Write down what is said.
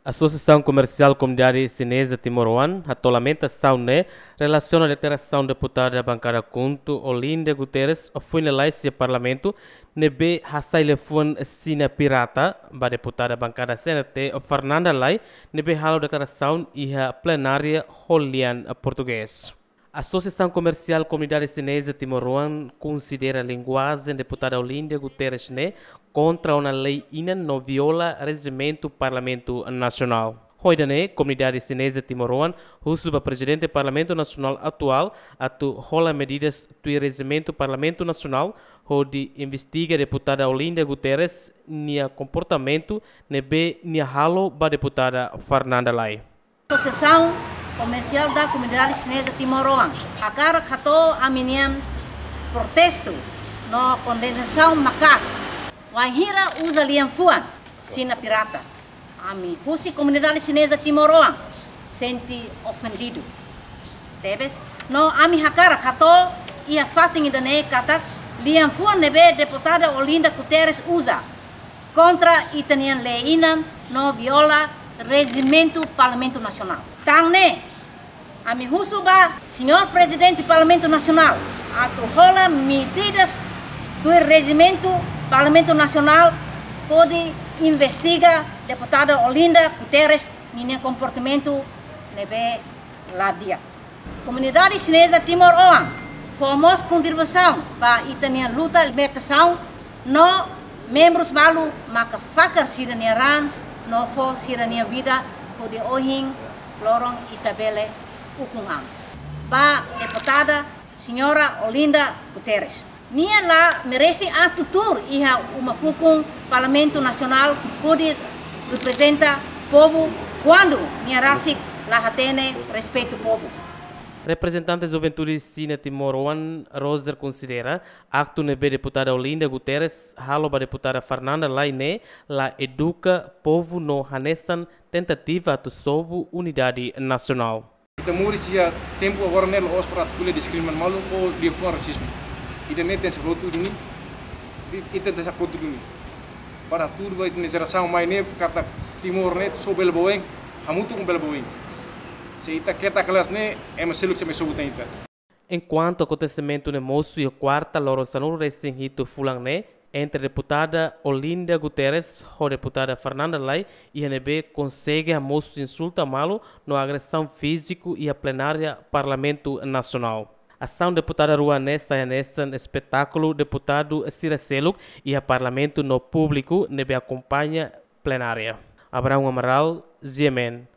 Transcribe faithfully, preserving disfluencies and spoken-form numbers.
Asosiasaun Komersiál Komunidade Xineza Timoroan hato'o lamentasaun ne'e relasiona deklarasaun deputada bankada KHUNTO Olinda Guterres foin lalais iha Parlamentu ne'ebé hasai liafuan Xina pirata ba deputada bankada C N R T Fernanda Lay ne'ebé halo deklarasaun iha plenária ho lian portugés. Asosiasaun Komersiál Komunidade Xineza Timoroan konsidera linguajen deputada Olinda Guterres ne'e kontra ona lei inan no viola rejimentu Parlamentu Nasionál. Ho ida-ne'e, Komunidade Xineza Timoroan husu ba Prezidente Parlamentu Nasionál atuál atu hola medidas tuir rejimentu Parlamentu Nasionál hodi investiga deputada Olinda Guterres nia komportamentu ne'ebé nia halo ba deputada Fernanda Lay. Asosiasaun Komersiál da Komunidade Xineza Timoroan hakarak hato'o ami-nian protestu no kondenasaun maka'as wainhira uza lian-fuan Xina pirata. Ami husi Komunidade Xineza Timoroan sente ofendidu tebes, no ami hakarak hato'o iha fatin ida-ne'e katak lian-fuan ne'ebé deputada Olinda Guterres uza kontra ita-nian lei inan no viola rejimentu Parlamentu Nasionál. Tan ne'e, ami husu ba Señór Prezidente Parlamentu Nasionál atu hola medidas tuir rejimentu Parlamentu Nasionál hodi investiga deputada Olinda Guterres ninia komportamentu ne'ebé la di'ak. Komunidade Xineza Timoroan fó mós kontribuisaun ba ita-nia luta libertasaun no membrus balu maka fakar sira-nia raan no fó sira-nia vida hodi ohin loron ita bele ukun an. Ba deputada Señora Olinda Guterres. Nia la merese atu tuur iha uma fukun Parlamentu Nasionál hodi reprezenta povu kuandu nia rasik la hatene respeitu povu. Reprezentante Juventude Xina Timoroan Roser konsidera aktu ne'ebé deputada Olinda Guterres halo ba deputada Fernanda Lay ne'e la eduka povu no hanesan tentativa atu sobu unidade nasionál. Ita moris iha tempu agora ne'e la'ós para atu ko'alia diskrimina malu ou liafuan rasismu. Ida-ne'e tenke sai hotu duni. Ita tenke sai hotu duni. Para hatudu ba ita-nia jerasaun mai ne'e katak Timor ne'e só bele ba oin, hamutuk bele ba oin. Se ita keta kedas ne'e, ema seluk sei mai sobu tan ita. Enkuantu akontesimentu ne'e mosu iha kuarta loron sanulu-resin-hitu fulan ne'e, entre deputada Olinda Guterres ho deputada Fernanda Lay, iha ne'ebé konsege hamosu insulta malu no agresaun fíziku iha plenária Parlamentu Nasionál. Asaun deputada rua ne'e sai hanesan espetákulu deputadu sira seluk iha Parlamentu no públiku ne'ebé akompaña plenária. Abraão Amaral, G M N,